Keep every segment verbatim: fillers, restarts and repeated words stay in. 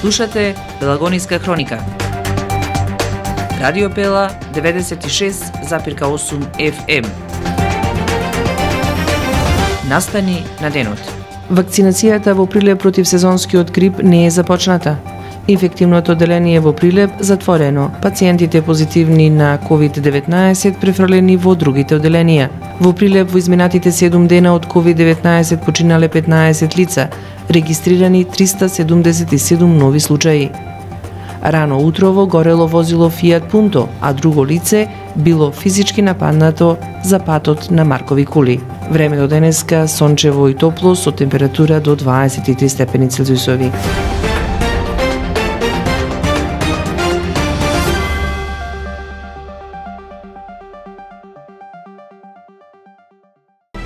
Слушате Пелагониска хроника. Радио Пела деветдесет и шест запирка осум Ф М. Настани на денот. Вакцинацијата во Прилеп против сезонскиот грип не е започната. Инфективното одделение во Прилеп затворено. Пациентите позитивни на ковид деветнаесет префрлени во другите одделенија. Во Прилеп во изминатите седум дена од ковид деветнаесет починале петнаесет лица, регистрирани триста седумдесет и седум нови случаи. Рано утрово горело возило Fiat Punto, а друго лице било физички нападнато за патот на Маркови кули. Времето денеска сончево и топло со температура до дваесет и три степени Целзиусови.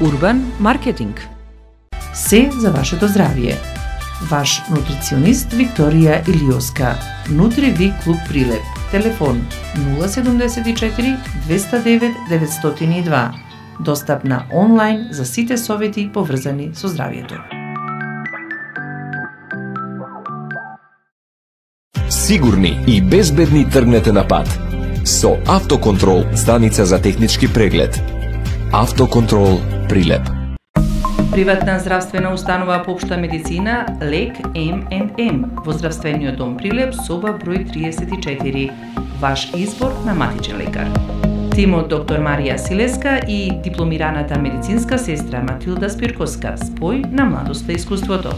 Урбан маркетинг. Се за вашето здравје. Ваш нутриционист Викторија Илиоска. Нутриви клуб Прилеп. Телефон нула седумдесет и четири двеста девет деветстотини и два. Достапна онлайн за сите совети поврзани со здравјето. Сигурни и безбедни тргнете на пат. Со Автоконтрол, станица за технички преглед. Автоконтрол Прилеп. Приватна здравствена установа по општа медицина Лек М енд М во здравствениот дом Прилеп, соба број триесет и четири. Ваш избор на матичен лекар. Тимот доктор Марија Силеска и дипломираната медицинска сестра Матилда Спирковска, спој на младоста и искуството.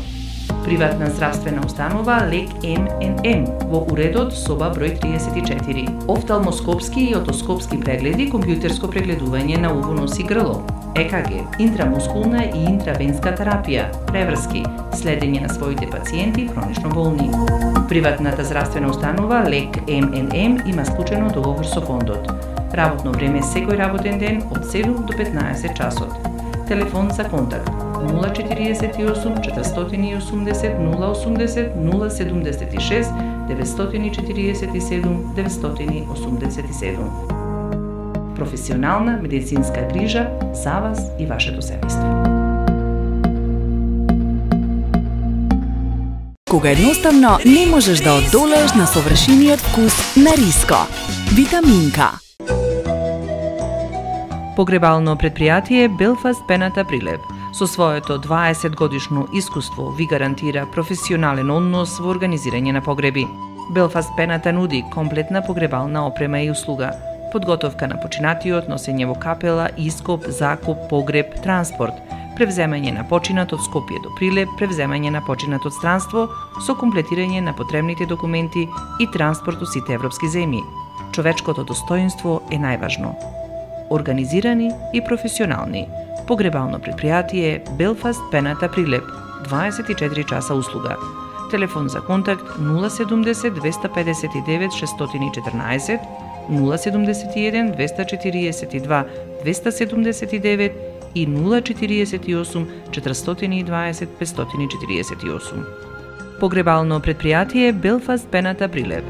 Приватна здравствена установа Лек М енд М во уредот соба број триесет и четири. Офталмоскопски и отоскопски прегледи, компјутерско прегледување на уво, нос и грло, Е К Г, интрамускулна и интравенска терапија, преврски, следење на своите пациенти хронично болни. Приватната здравствена установа Лек М енд М има склучено договор со фондот. Работно време секој работен ден од седум до петнаесет часот. Телефон за контакт нула четириесет и осум четиристотини и осумдесет нула осумдесет нула седумдесет и шест деветстотини четириесет и седум деветстотини осумдесет и седум. Професионална медицинска грижа за вас и вашето семејство. Кога едноставно не можеш да одолееш на совршениот вкус на риско. Витаминка. Погребално предпријатие Белфаст Пената Прилеп со своето дваесет годишно искуство ви гарантира професионален однос во организирање на погреби. Белфаст Пената нуди комплетна погребална опрема и услуга, подготовка на починатиот, носење во капела, ископ, закуп, погреб, транспорт, превземање на починат од Скопје до Прилеп, превземање на починат од странство со комплетирање на потребните документи и транспорт од сите европски земји. Човечкото достоинство е најважно. Организирани и професионални. Погребално предпријатие Белфаст Пената Прилеп, дваесет и четири часа услуга. Телефон за контакт нула седумдесет двеста педесет и девет шестстотини и четрнаесет, нула седумдесет и еден двеста четириесет и два двеста седумдесет и девет и нула четириесет и осум четиристотини и дваесет петстотини четириесет и осум. Погребално предпријатие Белфаст Пената Прилеп.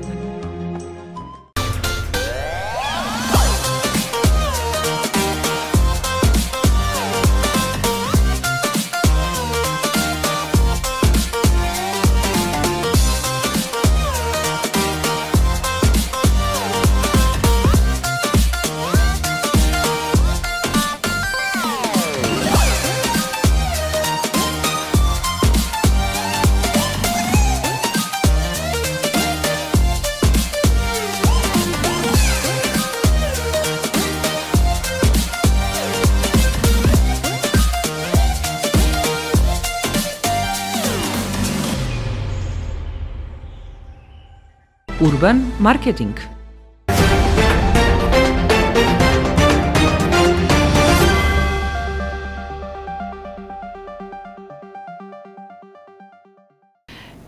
Урбан маркетинг.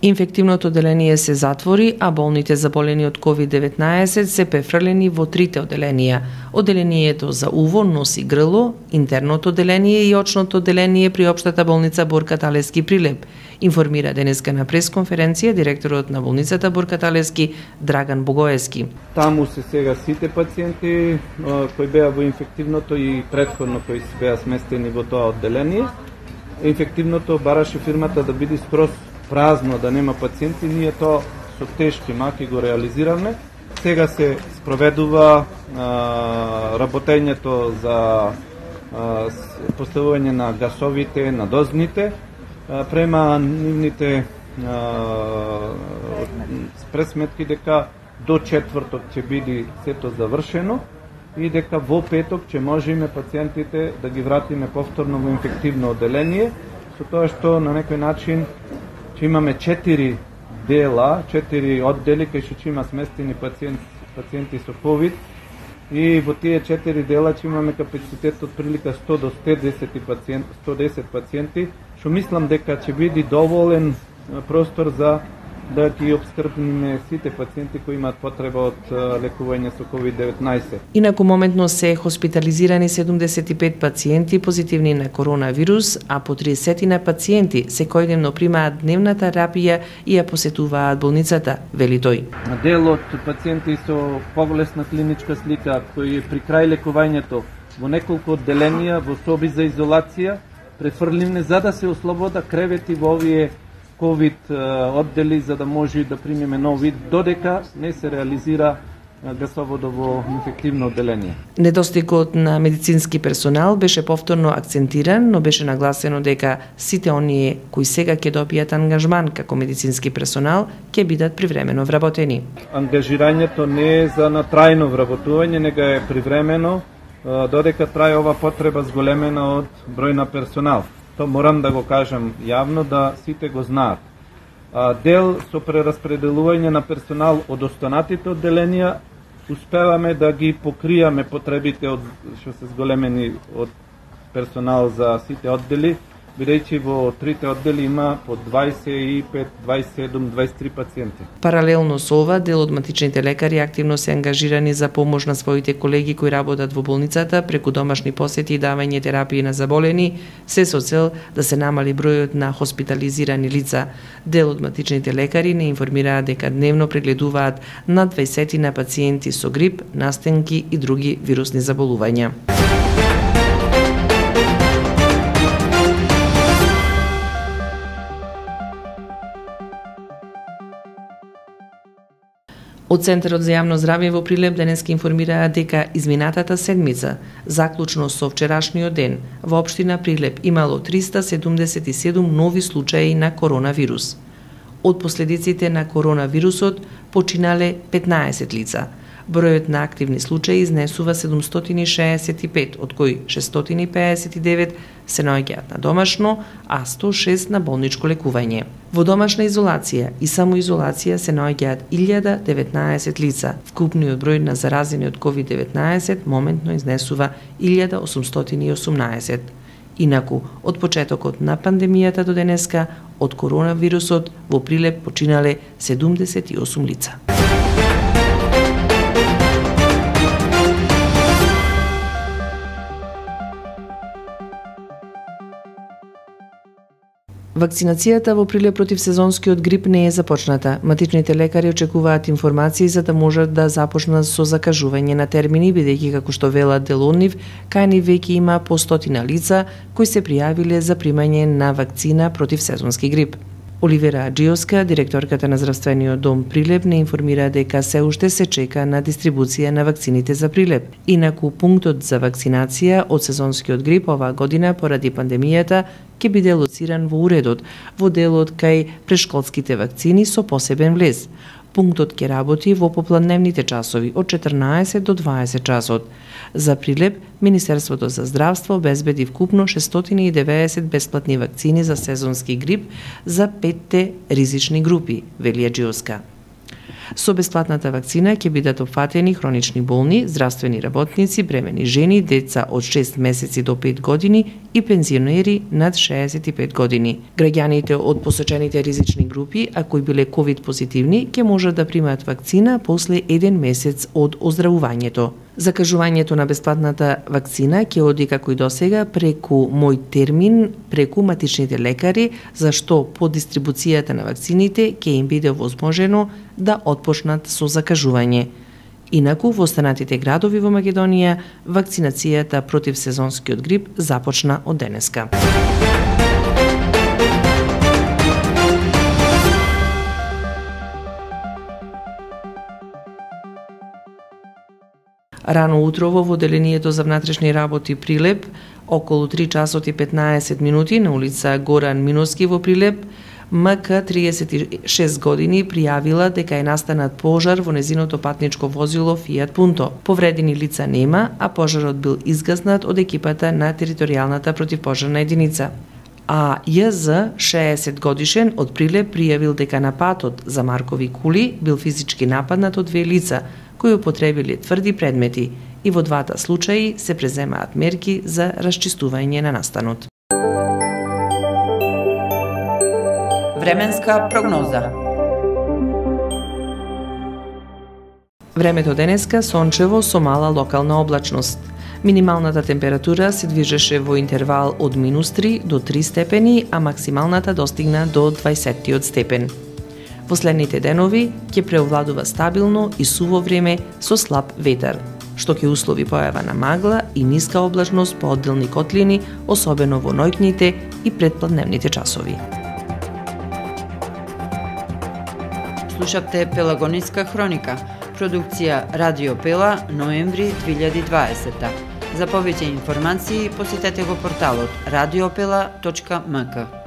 Инфективното одделение се затвори, а болните заболени од ковид деветнаесет се префрлени во трите одделенија. Одделението за уво, нос и грло, интерното одделение и очното одделение при општата болница Борка Талески Прилеп, информира денеска на пресконференција директорот на болницата Борка Талески Драган Богоевски. Таму се сега сите пациенти кои беа во инфективното и претходно кои се беа сместени во тоа одделение. Инфективното бараше фирмата да биде скроз празно, да нема пациенти, ние тоа со тешки маки го реализираме. Сега се спроведува а, работењето за а, поставување на гасовите, на дозните, а, према нивните а, пресметки дека до четврток ќе биде сето завршено и дека во петок ќе можеме пациентите да ги вратиме повторно во инфективно одделение, со тоа што на некој начин ќе имаме четири дела, четири оддели кај што ќе има сместени пациенти, пациенти со ковид и во тие четири дела ќе имаме капацитет од прилика сто до сто десет пациенти, сто десет пациенти, што мислам дека ќе биде доволен простор за да ги обскрбиме сите пациенти кои имаат потреба од лекување со ковид деветнаесет. Инаку моментно се хоспитализирани седумдесет и пет пациенти позитивни на коронавирус, а по триесет на пациенти секојдневно примаат дневна терапија и ја посетуваат болницата, вели тој. Дел од пациенти со поголесна клиничка слика кои при крај лекувањето во неколку одделенија во соби за изолација префрливне за да се ослобода кревети во овие ковид оддели за да може да примеме нов вид додека не се реализира гасоводо во инфективно одделение. Недостигот на медицински персонал беше повторно акцентиран, но беше нагласено дека сите оние кои сега ќе добијат ангажман како медицински персонал ќе бидат привремено вработени. Ангажирањето не е за натрајно вработување, него е привремено додека трае ова потреба зголемена од број на персонал. То морам да го кажам јавно да сите го знаат. Дел со прераспределување на персонал од останатите одделенија успеваме да ги покријаме потребите од што се зголемени од персонал за сите оддели, бидејќи во трите оддели има по дваесет и пет, дваесет и седум, дваесет и три пациенти. Паралелно со ова, дел од матичните лекари активно се ангажирани за помош на своите колеги кои работат во болницата преку домашни посети и давање терапии на заболени, се со цел да се намали бројот на хоспитализирани лица. Дел од матичните лекари не информираат дека дневно прегледуваат над дваесет на пациенти со грип, настенки и други вирусни заболувања. Од Центарот за јавно здравје во Прилеп денеска информираа дека изминатата седмица, заклучно со вчерашниот ден, во општина Прилеп имало триста седумдесет и седум нови случаи на коронавирус. Од последиците на коронавирусот починале петнаесет лица. Бројот на активни случаи изнесува седумстотини и шеесет и пет, од кои шестстотини и пеесет и девет се наоѓаат на домашно, а сто и шест на болничко лекување. Во домашна изолација и самоизолација се наоѓаат илјада деветнаесет лица. Вкупниот број на заразени од ковид деветнаесет моментно изнесува илјада осумстотини и осумнаесет. Инаку, од почетокот на пандемијата до денеска, од коронавирусот во Прилеп починале седумдесет и осум лица. Вакцинацијата во Прилеп против сезонскиот грип не е започната. Матичните лекари очекуваат информации за да можат да започнат со закажување на термини, бидејќи како што велат дел од нив, кај нив веќе има по стотина лица кои се пријавиле за примање на вакцина против сезонски грип. Оливера Аџиовска, директорката на здравствениот дом Прилеп, не информира дека се уште се чека на дистрибуција на вакцините за Прилеп. Инаку пунктот за вакцинација од сезонскиот грип оваа година поради пандемијата ќе биде лоциран во уредот, во делот кај прешколските вакцини со посебен влез. Пунктот ќе работи во попладневните часови од четрнаесет до дваесет часот. За Прилеп, Министерството за здравство обезбеди вкупно шестстотини и деветдесет бесплатни вакцини за сезонски грип за петте ризични групи, вели Аџиовска. Со бесплатната вакцина ќе бидат опфатени хронични болни, здравствени работници, бремени жени, деца од шест месеци до пет години и пензионери над шеесет и пет години. Граѓаните од посочените ризични групи, а кои биле ковид позитивни, ќе можат да примаат вакцина после еден месец од оздравувањето. Закажувањето на бесплатната вакцина ќе оди како и досега преку Мој термин, преку матичните лекари, зашто по дистрибуцијата на вакцините ќе им биде возможено да отпочнат со закажување. Инаку, во останатите градови во Македонија, вакцинацијата против сезонскиот грип започна од денеска. Рано утрово во Оделението за внатрешни работи Прилеп, околу три часот и петнаесет минути на улица Горан Миноски во Прилеп, М К триесет и шест години пријавила дека е настанат пожар во незиното патничко возило Фијат Пунто. Повредени лица нема, а пожарот бил изгаснат од екипата на територијалната противпожарна единица. А Ј З, шеесет годишен, од Прилеп пријавил дека на патот за Маркови кули бил физички нападнат од две лица, кои употребиле тврди предмети, и во двата случаи се преземаат мерки за расчистување на настанот. Временска прогноза. Времето денеска сончево со мала локална облачност. Минималната температура се движеше во интервал од минус три до три степени, а максималната достигна до дваесет степен. Во следните денови ќе преовладува стабилно и суво време со слаб ветар, што ќе услови појава на магла и ниска облачност по одделни котлини, особено во ноќните и предпладневните часови. Слушавте Пелагониска хроника, продукција Радио Пела, ноември две илјади и дваесета. За повеќе информации посетете го порталот радиопела точка м к.